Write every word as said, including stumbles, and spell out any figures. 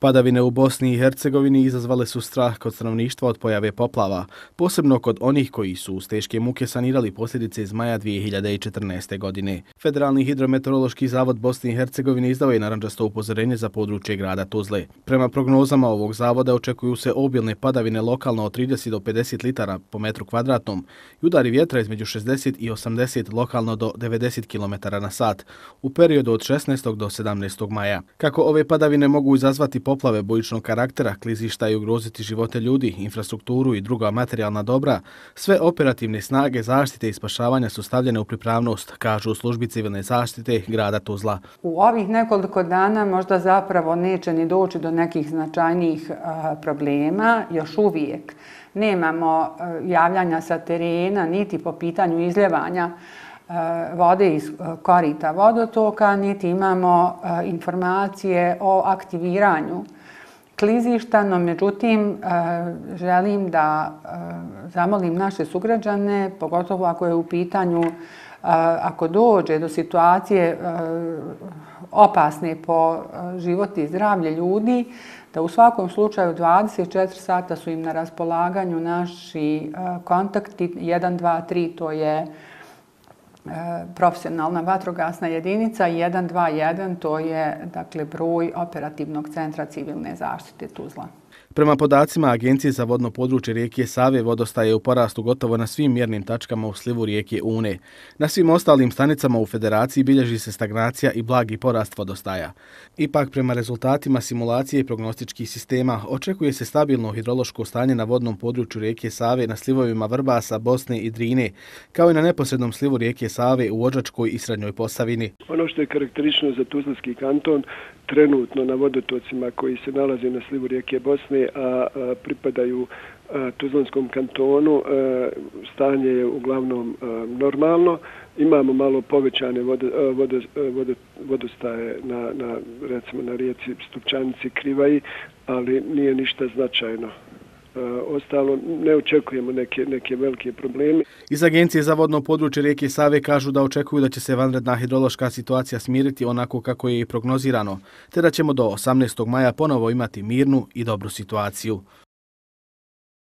Padavine u Bosni i Hercegovini izazvale su strah kod stanovništva od pojave poplava, posebno kod onih koji su uz teške muke sanirali posljedice iz maja dvije hiljade četrnaeste. godine. Federalni hidrometeorološki zavod Bosne i Hercegovine izdao je narandžasto upozorenje za područje grada Tuzle. Prema prognozama ovog zavoda očekuju se obilne padavine lokalno od trideset do pedeset litara po metru kvadratnom i udari vjetra između šezdeset i osamdeset lokalno do devedeset kilometara na sat u periodu od šesnaestog do sedamnaestog maja. Kako ove padavine mogu izazvati poplave bujičnog karaktera, klizišta i ugroziti živote ljudi, infrastrukturu i druga materijalna dobra, sve operativne snage zaštite i spašavanja su stavljene u pripravnost, kažu u službi civilne zaštite grada Tuzla. U ovih nekoliko dana možda zapravo neće ni doći do nekih značajnijih problema, još uvijek nemamo javljanja sa terena, niti po pitanju izljevanja vode iz korita vodotoka, niti imamo informacije o aktiviranju klizišta, no međutim želim da zamolim naše sugrađane, pogotovo ako je u pitanju, ako dođe do situacije opasne po život i zdravlje ljudi, da u svakom slučaju dvadeset četiri sata su im na raspolaganju naši kontakti jedan dva tri, to je profesionalna vatrogasna jedinica, i jedan dva jedan, to je dakle broj operativnog centra civilne zaštite Tuzla. Prema podacima Agencije za vodno područje rijeke Save, vodostaj je u porastu gotovo na svim mjernim tačkama u slivu rijeke Une. Na svim ostalim stanicama u Federaciji bilježi se stagnacija i blagi porast vodostaja. Ipak, prema rezultatima simulacije i prognostičkih sistema, očekuje se stabilno hidrološko stanje na vodnom području rijeke Save na slivovima Vrbasa, Bosne i Drine, kao i na neposrednom slivu rijeke Save u Odžačkoj i Srednjoj Posavini. Ono što je karakteristično za Tuzlanski kanton, trenutno na vodotocima koji se nalaze na slivu rijeke Bosne, a pripadaju Tuzlanskom kantonu, stanje je uglavnom normalno. Imamo malo povećane vodostaje na, na, recimo, na rijeci Stupčanici, Krivaji, ali nije ništa značajno. Ostalo, ne očekujemo neke, neke velike probleme. Iz Agencije za vodno područje rijeke Save kažu da očekuju da će se vanredna hidrološka situacija smiriti onako kako je i prognozirano, te da ćemo do osamnaestog maja ponovo imati mirnu i dobru situaciju.